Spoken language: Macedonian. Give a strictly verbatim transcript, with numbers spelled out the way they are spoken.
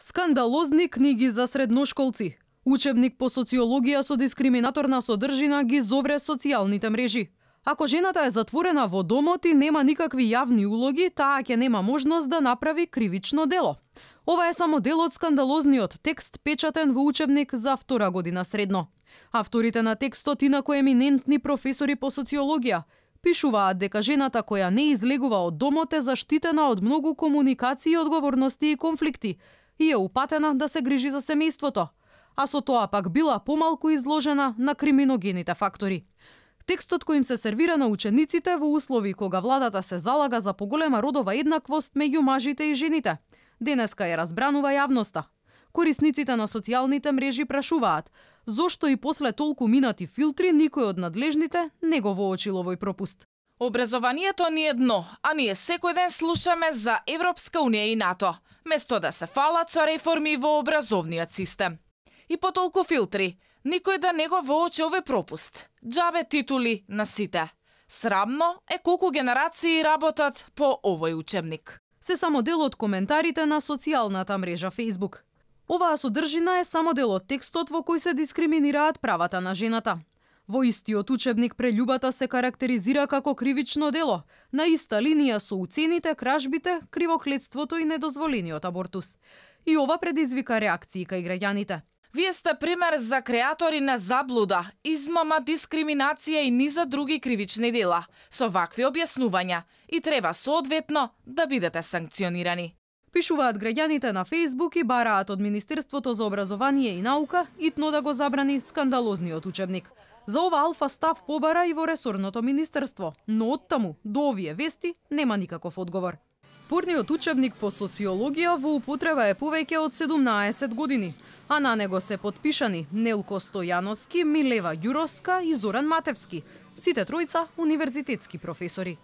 Скандалозни книги за средношколци. Учебник по социологија со дискриминаторна содржина ги зовре социјалните мрежи. Ако жената е затворена во домот и нема никакви јавни улоги, таа ќе нема можност да направи кривично дело. Ова е само дел од скандалозниот текст печатен во учебник за втора година средно. Авторите на текстот, инаку еминентни професори по социологија, пишуваат дека жената која не излегува од домот е заштитена од многу комуникации, одговорности и конфликти и е упатена да се грижи за семејството, а со тоа пак била помалку изложена на криминогените фактори. Текстот кој им се сервира на учениците во услови кога владата се залага за поголема родова еднаквост меѓу мажите и жените, денеска ја разбранува јавноста. Корисниците на социјалните мрежи прашуваат зошто и после толку минати филтри никој од надлежните не го воочил овој пропуст. Образованието ни е дно, а ние секој ден слушаме за Европска унија и НАТО, место да се фалат со реформи во образовниот систем. И по толку филтри, никој да не го воочи овој пропуст. Џабе титули на сите. Срамно е колку генерации работат по овој учебник. Се само дел од коментарите на социјалната мрежа Facebook. Оваа содржина е само дел од текстот во кој се дискриминираат правата на жената. Во истиот учебник прељубата се карактеризира како кривично дело, на иста линија со уцените, кражбите, кривоклетството и недозволениот абортус. И ова предизвика реакции кај граѓаните. Вие сте пример за креатори на заблуда, измама, дискриминација и низа други кривични дела, со вакви објаснувања и треба соодветно да бидете санкционирани. Пишуваат граѓаните на Facebook и бараат од Министерството за образование и наука итно да го забрани скандалозниот учебник. За ова алфа став побара и во ресорното министерство, но оттаму до овие вести нема никаков одговор. Порниот учебник по социологија во употреба е повеќе од седумнаесет години, а на него се потпишани Нелко Стојановски, Милева Ѓуровска и Зоран Матевски, сите тројца универзитетски професори.